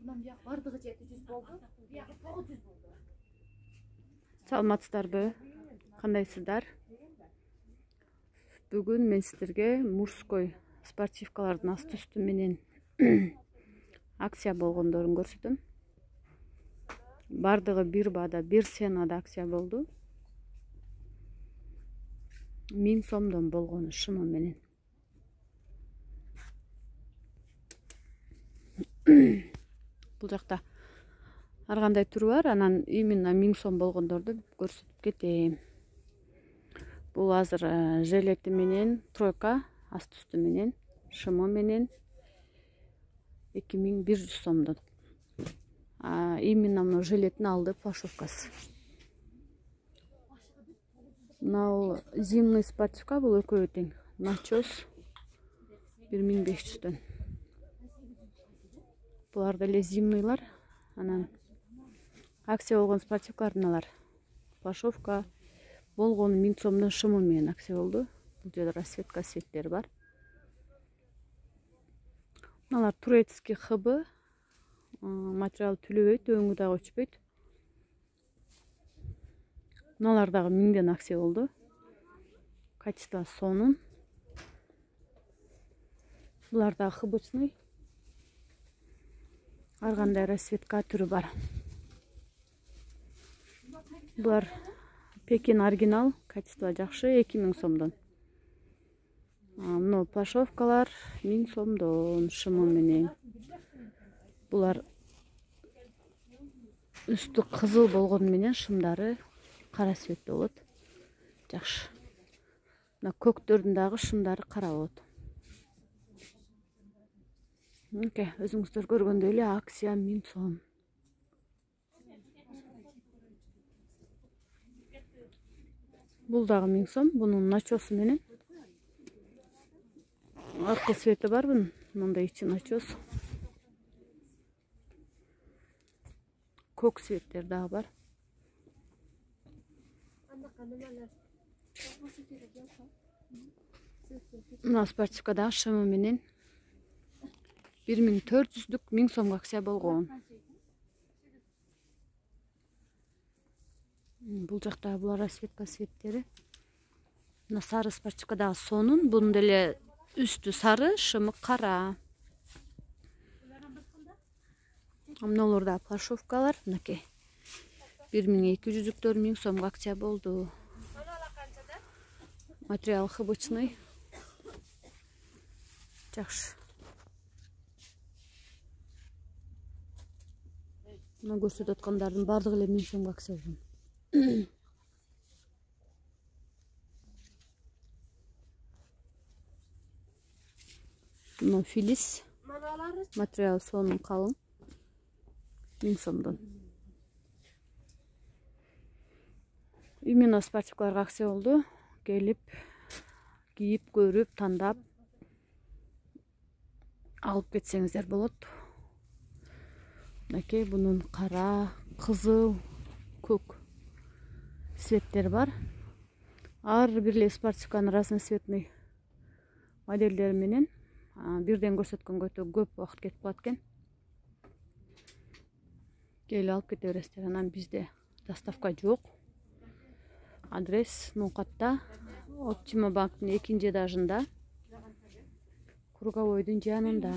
Мындан бияк бардыгы 700 болду. Биягы 900 болду. Саламатсыздарбы? Кандайсыздар? Бүгүн мен сиздерге мужской спортивкалардын асты үстү менен акция болгондорун көрсөтөм. Бардыгы бир баада, бир сценада акция болду. 1000 сомдон болгону шымы менен. Бул жакта ар кандай түрү бар, анан именно 1000 сом болгондорду көрсөтүп кетейин. Бул азыр жилети менен тройка, асты үстү менен, шымы менен 2100 сомдон. Именно мына жилеттин алды пошовкасы. Мына зимний спортивка, бул экөө тең. Начос 1500дөн. Булар деле зимныйлар. Анан акция болгон спортивкалар мыналар. Пошовка болгону 1000 сомдон шымы менен акция болду. Бул жерде расцветка светтери бар. Мыналар турецкий хыбы. Материал түлөбөйт, өңү дагы өчпөйт. Мыналар дагы 1000ден акция болду. Качество сонун. Булар дагы хыбычный. Ар кандай расцветка түрү бар. Булар Пекин оригинал, качество жакшы, 2000 сомдон. Мына пошовкалар 1000 сомдон шымы менен. Булар үстү кызыл болгон менен шымдары кара цветте болот. Жакшы. Мына көктөрдүн дагы шымдары кара болот. Өзүңүздөр көргөндөй эле акция 1000 сом. Бул дагы 1000 сом, бунун начосу менен. Аркы цвети бар бунун, мындай ичи начос. Көк цветтер дагы бар. Мына спортивка дагы шымы менен 1400дүк 1000 сомго акция болгон. Бул жакта булар расцветка светтери. Мына сары спортивка дагы сонун, бунун деле үстү сары, шымы кара. Мыналар да пошовкалар, мынакей. 1200дүктөр 1000 сомго акция болду. Материал хыбычный. Жакшы. Мына көрсөтүп аткандардын бардыгы эле 1000 сомго акция болгон. Мына филис. Материал сонун калың. 1000 сомдон. Именно спортивкаларга акция болду. Келип, кийип, көрүп, тандап алып кетсеңиздер болот. Мынакей бунун кара, кызыл, көк цветтер бар. Ар бир эле спортивканын разноцветный модельдери менен бирден көрсөткөнгө өтө көп убакыт кетип калат экен. Келип алып кете бересиздер. Анан бизде доставка жок. Адрес Нукатта, Оптима банктын 2-этажында, Круговойдун жанында.